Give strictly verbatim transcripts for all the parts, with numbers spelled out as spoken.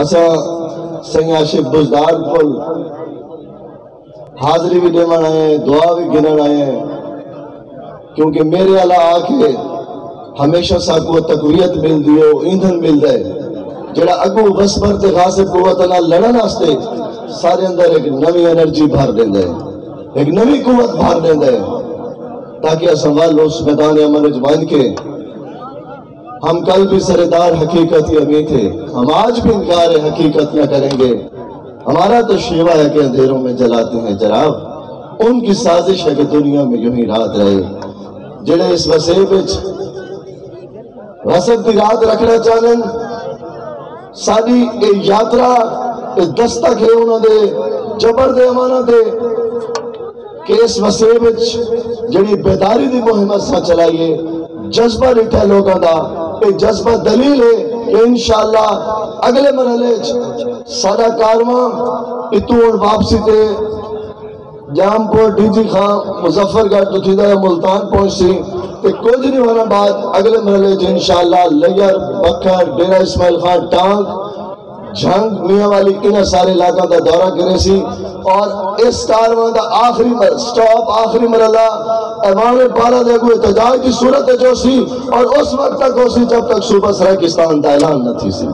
اساں سئیں عاشق بزدار کول حاضری وی ݙیوݨ آئے ہیں، دعا وی گھنݨ آئے ہیں، کیونکہ میرے والا آ کے ہمیشہ ساکوں تقویت ملدی ہے، او ایندھن ملدا ہے جڑا اڳوں وسپر تے غاصب قوت نال لڑݨ واسطے سارے اندر ایک نویں انرجی بھر ݙیندا ہے، ایک نویں قوت بھر ݙیندا ہے، تاکہ اساں ول اس میدان عمل وچ ونڄ کے ہم کل بھی سر دار حقیقت کے امیت تھے، ہم آج بھی انکار حقیقت نہ کریں گے۔ ہمارا تو شیوا ہے کہ اندھیروں میں جلاتے ہیں چراغ، ان کی سازش ہے کہ دنیا میں یوں ہی رات رہے۔ جڑے اس وسیب وچ وسب دی رات رکھنا چاہندے، ساݙی اے یاترا، اے دستک ہے انہاں دے جبر دے امانت دے۔ کہ اس وسیب وچ جڑی بیداری دی مہم اساں چلائی ہے، جذبہ ݙٹھا ہے لوکاں دا، اے جذبہ دلیل ہے کہ انشاءاللہ اڳلے مرحلے وچ ساݙا کارواں اتوں ہݨ واپسی تے جام پور، ڈی جی خان، مظفر گڑھ توں تھیندا ہویا ملتان پہنچسی تے کجھ ݙینہاں بعد اڳلے مرحلے وچ انشاءاللہ لیئر، بکھر، ڈیرہ اسماعیل خان، ٹانک، جھنگ، میاں والی، انہاں سارے علاقاں دا دورہ کریسی اور اس کارواں دا آخری مر-، سٹاپ، آخری مرحلہ ایوان پارا دے اڳوں احتجاج دی صورت وچ ہوسی اور اس وقت تک ہوسی جب تک صوبہ سرائیکستان دا اعلان نہ تھیسی۔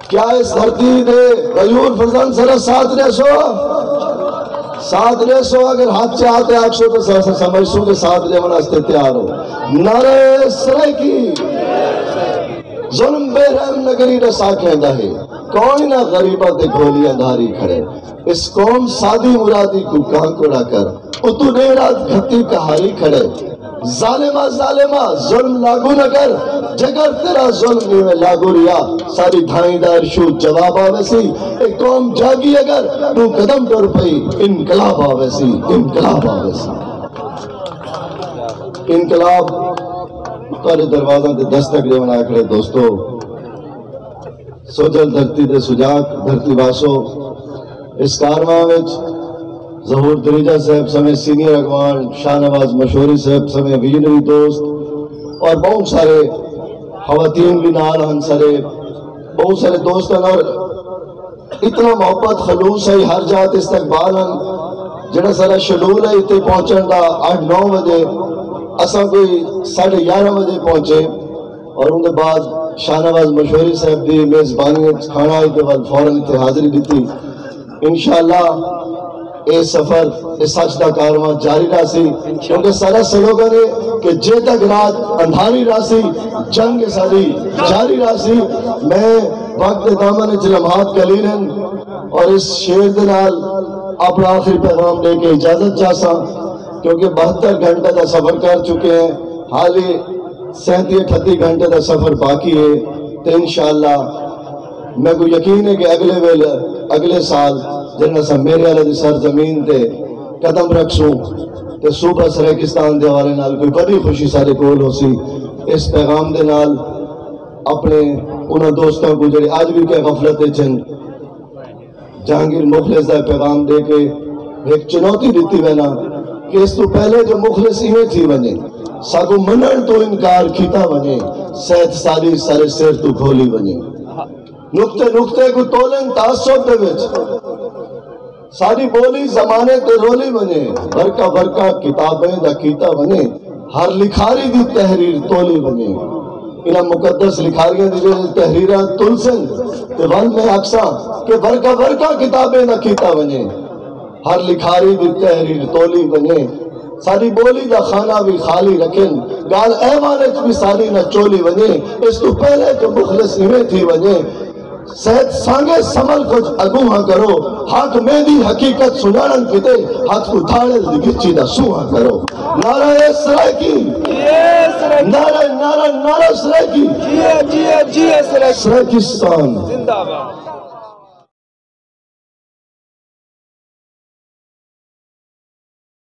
کیا اس دھرتی دے غیور فرزند سارا ساتھ ݙیسو؟ ساتھ ݙیسو، اگر ہتھ چا تے آکھسو تو س-، س-، سمجھسوں کہ ساتھ ݙیوݨ واسطے تیار ہو۔ نعرہ سرائیکی۔ ظلم بے رحم نگری ݙسا کھیندا ہے، کوئی نہ غریباں تے گھولی اندھاری کھڑے۔ اس قوم سادی مرادی کوں کاں کوڑا کر، اتوں ݙینہہ رات گھتی کہاری کھڑے۔ ظالما، ظالما، ظلم لاگو نہ کر، جیکر تیرا ظلم ایویں لاگو رہیا، ساری دھائیں دا ارشو جواب آویسی۔ اے قوم جاگی اگر توں قدم ٹر پئی، انقلاب آویسی، انقلاب آویسی۔ انقلاب تہاݙے دروازاں تے دستک ݙیوݨ آ کھڑے دوستو۔ سوجھل دھرتی دے سجاگ دھرتی واسو، اس کارواں وچ ظہور دریجہ صاحب سمیں سینئر اڳواݨ، شاہ نواز مشوری صاحب سمیں ویژنری دوست اور بہت سارے خواتین بھی نال ہن، سارے بہت سارے دوست ہن اور اتنا محبت خلوص ہے، ہر جات استقبال ہن۔ جڑا سارا شیڈول ہے اتنے پہنچن دا اٹھ نو بجے، اساں کوئی ساڑھے گیارہ بجے پہنچے۔ اور اون دے بعد شاہ نواز مشوری صاحب دی میزبانی وچ کھانا آئی تے بعد فوراً اتھے حاضری ݙتی۔ انشاءاللہ اے سفر، اے سچ دا کارواں جاری رہسی، کیونکہ سارا سلوگن ہے کہ جے تک رات اندھاری رہسی، جنگ ساری جاری رہسی۔ میں وقت دے دامن وچ لمحات قلیل ہیں اور اس شعر دے نال اپنا آخری پیغام دے کے اجازت چاہساں، کیونکہ بہتر گھنٹے دا سفر کر چکے ہیں، حالی سینتی اٹھتی گھنٹے دا سفر باقی ہے، تے انشاءاللہ میکوں یقین ہے کہ اگلے ویلے، اگلے سال جݙݨ اساں میرے والے دی سرزمین تے قدم رکھسوں تے صوبہ سرائیکستان دے حوالے نال کوئی وݙی خوشی ساݙے کول ہوسی۔ اس پیغام دے نال اپݨے انہاں دوستاں کوں جڑے اڄ وی کہ غفلت وچ ہن، جہانگیر مخلص دا پیغام ݙے کے ہک چنوتی ݙتی وینا کہ اس توں پہلے جو مخلص ایویں تھی ونڄے، ساکوں منݨ توں انکار کیتا ونڄے، سیت ساری سارے سر توں کھولی ونڄے۔ نقطے نقطے کوں تولن تعصب دے وچ، ساری ٻولی زمانے تے رولھی ونڄے، ورقہ ورقہ کتابیں دا کیتا ونڄے، ہر لکھاری دی تحریر تولھی ونڄے۔ انہاں مقدس لکھاریاں دی جیڑھے تحریراں تلسن تے ول میں آکھساں کہ ورقہ ورقہ کتابیں دا کیتا ونڄے، ہر لکھاری دی تحریر تولھی ونڄے۔ ساݙی ٻولی دا خانہ وی خالی رکھن، ڳالھ ایوان اچ وی ساݙی نہ چولھی ونڄے۔ اس توں پہلے جو مخلص ایویں تھی ونڄے، سیت سانگے سمل کجھ اڳونہاں کرو، حق میں دی حقیقت سنڄاݨݨ کیتے ہتھ اٹھاڑے دی گچی دا سونہاں کرو۔ نعرہ سرائیکی، نعرہ، نعرہ، نعرہ سرائیکی۔ جیے، جیے، جیے سرائیکی۔ سرائیکستان۔ زندہ باد۔